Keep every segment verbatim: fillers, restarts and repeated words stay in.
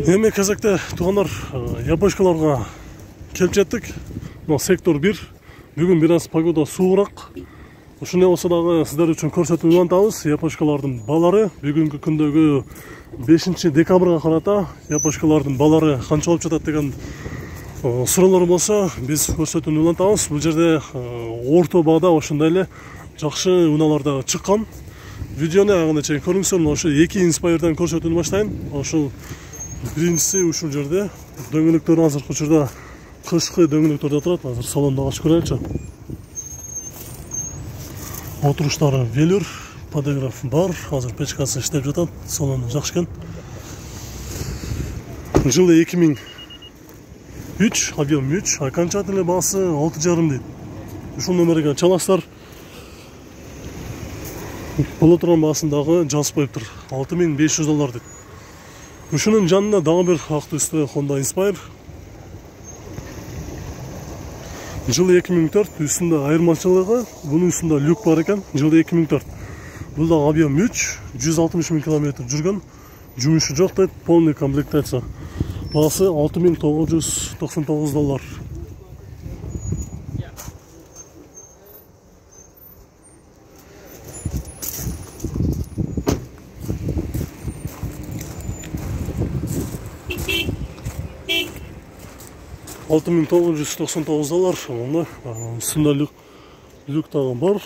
Эми кезекте туугандар япошкаларга келип жеттик. Мына сектор бир. Бүгүн бир аз погода суугураак. Ушундай болсо дагы сиздер үчүн көрсөтүүнү улантабыз. Япошкалардын балары бүгүнкү күндөгү бешинчи декабрга карата япошкалардын балары канча болуп жатат деген суроолор болсо, биз көрсөтүүнү улантабыз. Бул жерде орто баада ошондой эле жакшы унаалар да чыккан. Видеону агына чейин көрүңүздөр. Ошо эки инспайрдан көрсөтүүнү баштайын. Ошол биринчиси ушул жерде дөңгөлөктөр азыркы учурда кышкы дөңгөлөктөрдө турат. Азыр салонду ачып көрөлүчү. Отуруштары велюр, подограф бар. Азыр печкасы иштеп жатат. Салону жакшы экен. Жылы эки миң үч, объем үч, окончательный баасы алты жарым дейт. Ушул номерге чаласыздар. Боло турган баасын дагы жазып коюптур. алты миң беш жүз доллар дейт. Ушунун жанында дагы бир ак түстүү Honda Inspire. Жылы эки миң төрт, үстүндө айырмачылыгы, бунун үстүндө люк бар экен. Жылы эки миң төрт. Бул да объем үч, жүз алтымыш миң километр жүргөн. Жумушу жок дейт, полный комплектация. Баасы алты миң тогуз жүз токсон тогуз доллар. алты миң тогуз жүз токсон тогуз доллар. Аны үстүндө люк, люк дагы бар.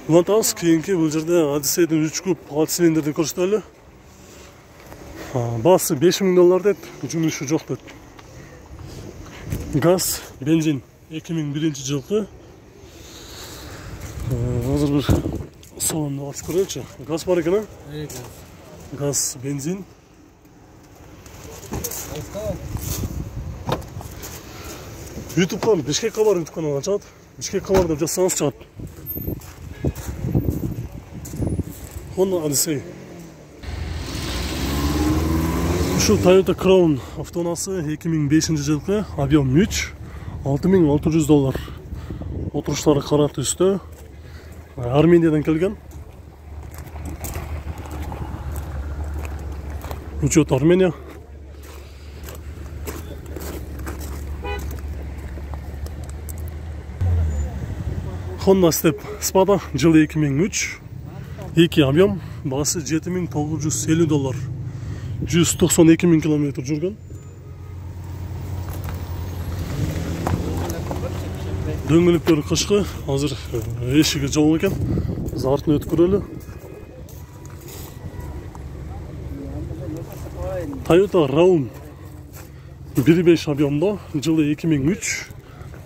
Улантабыз, кийинки бул жерде Odyssey'дин үч куб алты цилиндрди көрсөтөлү. Баасы беш миң доллар дейт, жумушу жок дейт. Газ, бензин эки миң биринчи жылкы. Азыр бир салонду ачып көрөлүчү. Газ бар экен, а? Газ, бензин. YouTube'дан Бишкек кабар YouTube каналына чыгат. Бишкек кабар деп жазсаңыз чыгат. Honda Odyssey. Ушул Toyota Crown автоунасы эки миң бешинчи жылкы, объем үч, алты миң алты жүз доллар. Отуруштары кара түстө. Армениядан келген. Учет Армения. Honda Step Spada, жылы эки миң үч, эки объем, баасы жети миң тогуз жүз элүү доллар. жүз токсон эки миң километр жүргөн. Дөңгөлөктөрү кышкы, азыр эшиги жабык экен. Биз артын өтүп көрөлү. Toyota Raun бир беш объемдо, жылы эки миң үч,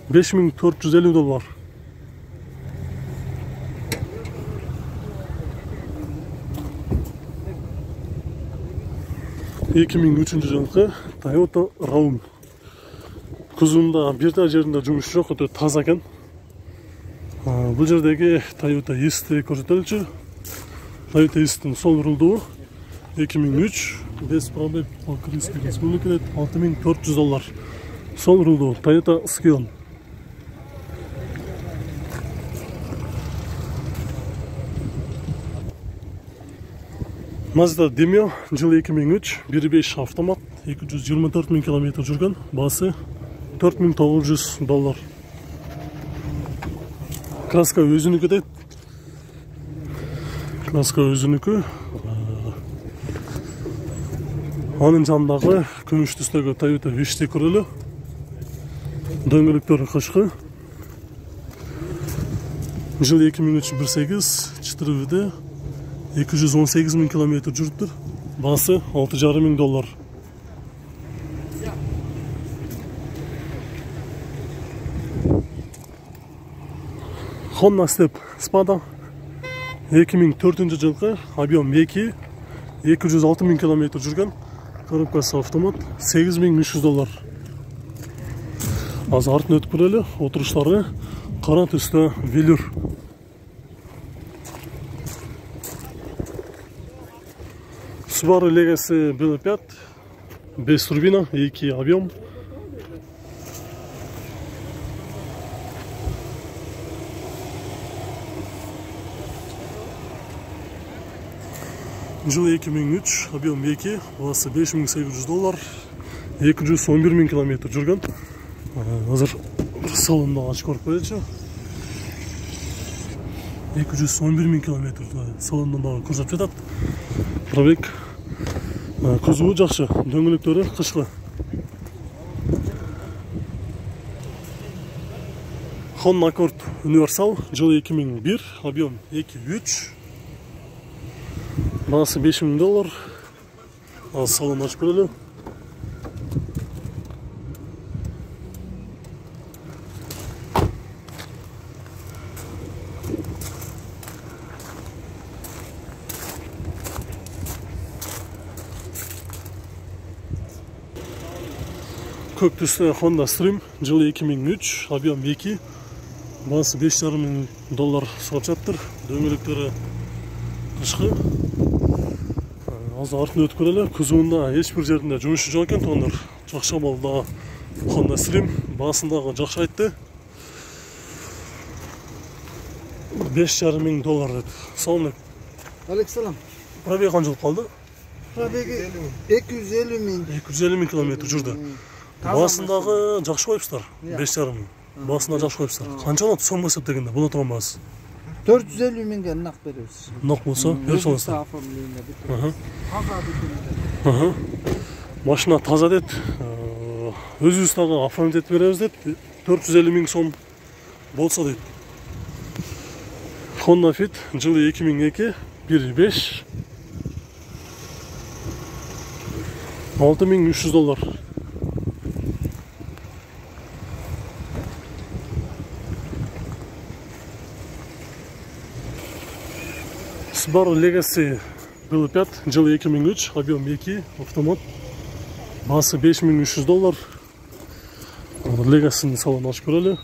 беш миң төрт жүз элүү доллар. эки миң үчүнчү жылкы Toyota Raun. Кузунда бир да жеринде жумуш жок, өтө таза экен. Бул жердеги Toyota East'ти көрсөтөлүчү. Toyota East'тин сол рулдуу эки миң үч, без пробег по Крымской республике, алты миң төрт жүз доллар. Сол рулдуу Toyota Scion. Mazda Demio, жылы эки миң үч, бир беш автомат, эки жүз жыйырма төрт миң километр жүргөн, баасы төрт миң тогуз жүз доллар. Краска өзүнүкү дейт. Краска өзүнүкү. Анын жанындагы күмүш түстөгү Toyota Wish-ти көрөлү. Дөңгөлөктөрү кышкы. Жылы эки миң үч, бир сегиз, четыре виде. эки жүз он сегиз миң километр жүрүптүр. Баасы алты жарым миң доллар. Honda Step Spada эки миң төртүнчү жылкы, объем эки, эки жүз алты миң километр жүргөн. Коробкасы автомат, сегиз миң үч жүз доллар. Азыр артын өтүп көрөлү. Отуруштары кара түстө велюр. Subaru Legacy бэ пять, без турбина, эки объем. Жылы эки миң үч, объем эки, баасы беш миң сегиз жүз доллар, эки жүз он бир миң километр жүргөн. Азыр салонду ачып көрүп коелучу. эки жүз он бир миң километр салондон дагы көрсөтүп жатат. Пробег. Кузову жакшы, дөңгөлөктөрү кышкы. Honda Accord универсал, жылы эки миң бир, объем эки үч. Баасы беш миң доллар. Ал салон ачып көрөлү. Көк түстө Honda Stream, жылы эки миң үч, объем эки. Баасы беш жарым миң доллар сурап жатыр. Дөңгөлөктөрү кышкы. Азыр артын өтүп көрөлү. Кузовунда эч бир жеринде жумушу жок экен, тондор. Жакшы абалда Honda Stream, баасын дагы жакшы айтты. беш жарым миң доллар деп. Салам алейкум. Алейкум. Пробег канчалык калды? Пробеги эки жүз элүү миң. эки жүз элүү миң километр жүрдү. Баасын дагы жакшы коюпсуздар. беш жарым миң. Баасын дагы жакшы коюпсуздар. Канча болот сом эсептегенде? Бул турган баасы. төрт жүз элүү миңге нак беребиз. Нак болсо, берип саласыздар. Аха. Машина таза дейт. Өзүбүз дагы оформить этип беребиз дейт. төрт жүз элүү миң сом болсо дейт. Honda Fit, жылы эки миң эки, бир беш. алты миң үч жүз доллар. Subaru Legacy бэ пять, жылы эки миң үч, объем эки, автомат. Баасы беш миң үч жүз доллар. Legacy'nin салонун ачып көрөлү.